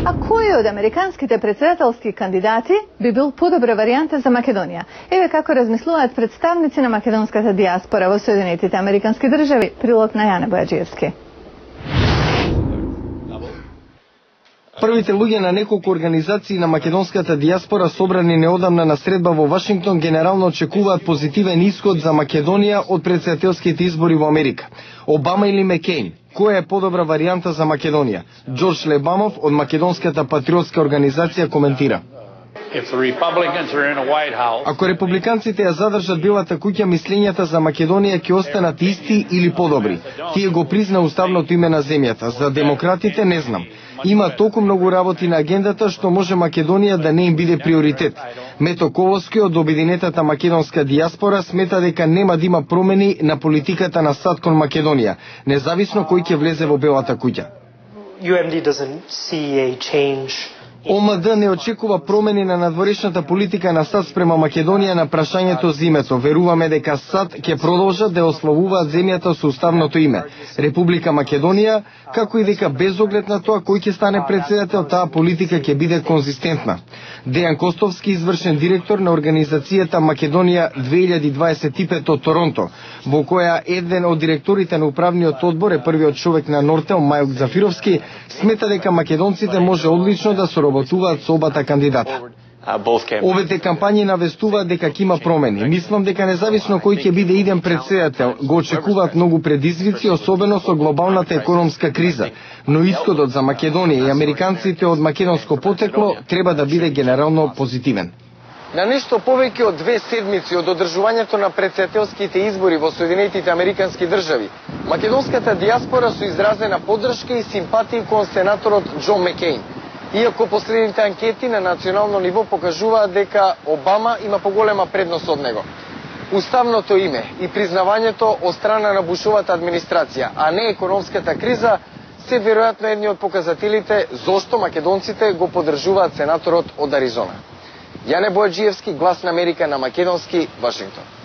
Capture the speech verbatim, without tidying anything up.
А кој од американските председателски кандидати би бил подобра варијанта за Македонија? Еве како размислуваат представници на македонската дијаспора во Соединетите Американски држави. Прилог на Јане Бојаджиевски. Првите луѓе на неколку организации на македонската дијаспора собрани неодамна на средба во Вашингтон генерално очекуваат позитивен исход за Македонија од председателските избори во Америка. Обама или Маккейн? Која е подобра варијанта за Македонија? Џорџ Лебамов од македонската патриотска организација коментира. Ако републиканците ја задржат Белата куќа, мислењата за Македонија ќе останат исти или подобри. Тие го призна уставното име на земјата. За демократите не знам. Има толку многу работи на агендата што може Македонија да не им биде приоритет. Мето Колоски од Обединетата македонска дијаспора смета дека нема да има промени на политиката на САД кон Македонија, независно кој ќе влезе во Белата куќа. О М Д не очекува промени на надворешната политика на САД спрема Македонија на прашањето за името. Веруваме дека САД ќе продолжат да ославуваат земјата со уставното име Република Македонија, како и дека без оглед на тоа кој ќе стане председател, таа политика ќе биде конзистентна. Дејан Костовски, извршен директор на организацијата Македонија две илјади дваесет и пет од Торонто, во која еден од директорите на управниот одбор е првиот човек на Нортел, Мајок Зафировски, смета дека македонците може одлично да соработуваат со обата кандидата. Овете кампањи навестуваат дека ќе има промени. Мислам дека независно кој ќе биде иден председател, го очекуваат многу предизвици, особено со глобалната економска криза, но исходот за Македонија и американците од македонско потекло треба да биде генерално позитивен. На нешто повеќе од две седмици од одржувањето на председателските избори во Соединетите Американски држави, македонската дијаспора со изразена поддршка и симпатии кон сенаторот Џон Маккейн. Иако последните анкети на национално ниво покажуваат дека Обама има поголема предност од него. Уставното име и признавањето од страна на Бушовата администрација, а не економската криза, се веројатно едни од показателите зошто македонците го поддржуваат сенаторот од Аризона. Јане Бојаджиевски, Глас на Америка на македонски, Вашингтон.